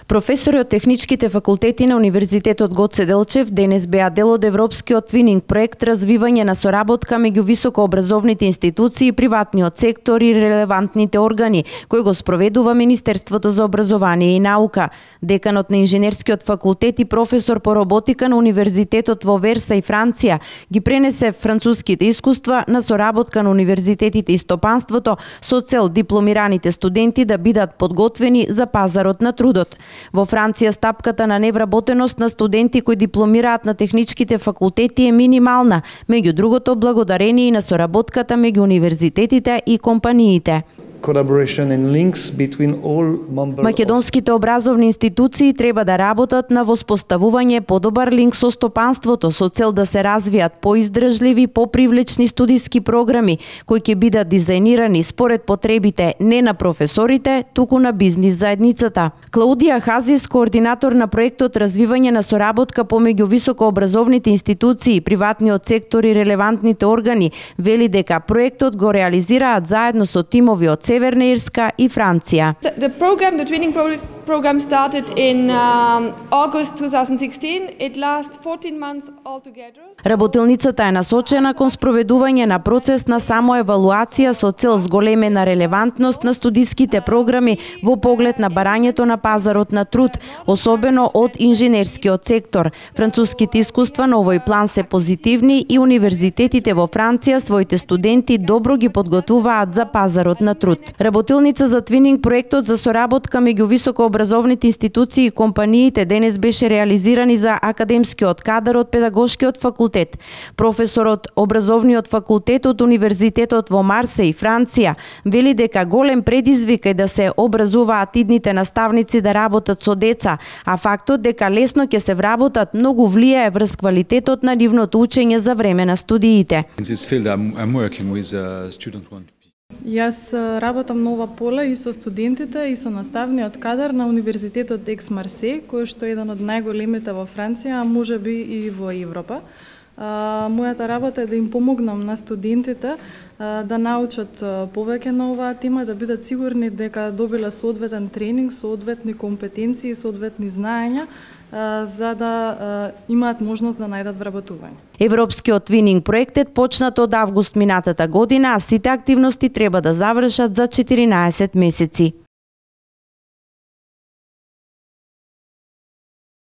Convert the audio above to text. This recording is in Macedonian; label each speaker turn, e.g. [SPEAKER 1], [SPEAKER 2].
[SPEAKER 1] Професори од техничките факултети на Универзитетот Гоце Делчев денес беа дел од европскиот твининг проект развивање на соработка меѓу високообразовните институции, приватниот сектор и релевантните органи, кој го спроведува Министерството за образование и наука. Деканот на инженерскиот факултет и професор по роботика на Универзитетот во Версај, Франција, ги пренесе француските искуства на соработка на универзитетите и стопанството со цел дипломираните студенти да бидат подготвени за пазарот на трудот. Во Франција стапката на невработеност на студенти кои дипломираат на техничките факултети е минимална, меѓу другото благодарение и на соработката меѓу универзитетите и компаниите. Македонските образовни институции треба да работат на воспоставување подобар линк со стопанството со цел да се развијат поиздржливи, попривлечни студиски програми кои ќе бидат дизајнирани според потребите не на професорите, туку на бизнис заедницата. Клаудија Хазис, координатор на проектот развивање на соработка помеѓу високообразовните институции, приватниот сектор и релевантните органи, вели дека проектот го реализираат заедно со тимови од Северна Ирска и Франција.
[SPEAKER 2] The twinning program started in August 2016. It lasts 14 months altogether.
[SPEAKER 1] Работилницата е насочена кон спроведување на процес на самоевалуација со цел зголемена релевантност на студиските програми во поглед на барањето на пазарот на труд, особено од инженерскиот сектор. Француските искуства на овој план се позитивни и универзитетите во Франција своите студенти добро ги подготвуваат за пазарот на труд. Работилница за твининг проектот за соработка меѓу високообразовните институции и компаниите денес беше реализирани за академскиот кадар од педагошкиот факултет. Професорот образовниот факултет од Универзитетот во Марсеј, Франција, вели дека голем предизвик е да се образуваат идните наставници да работат со деца, а фактот дека лесно ќе се вработат многу влијае врз квалитетот на нивното учење за време на студиите.
[SPEAKER 3] Јас работам на ова поле и со студентите и со наставниот кадар на Универзитетот Екс Марсеј, кој што е еден од најголемите во Франција, а можеби и во Европа. Мојата работа е да им помогнам на студентите да научат повеќе на оваа тема, да бидат сигурни дека добиле соодветен тренинг, соодветни компетенции, соодветни знаења, за да имаат можност да најдат вработување.
[SPEAKER 1] Европскиот твининг проектет почнат од август минатата година, а сите активности треба да завршат за 14 месеци.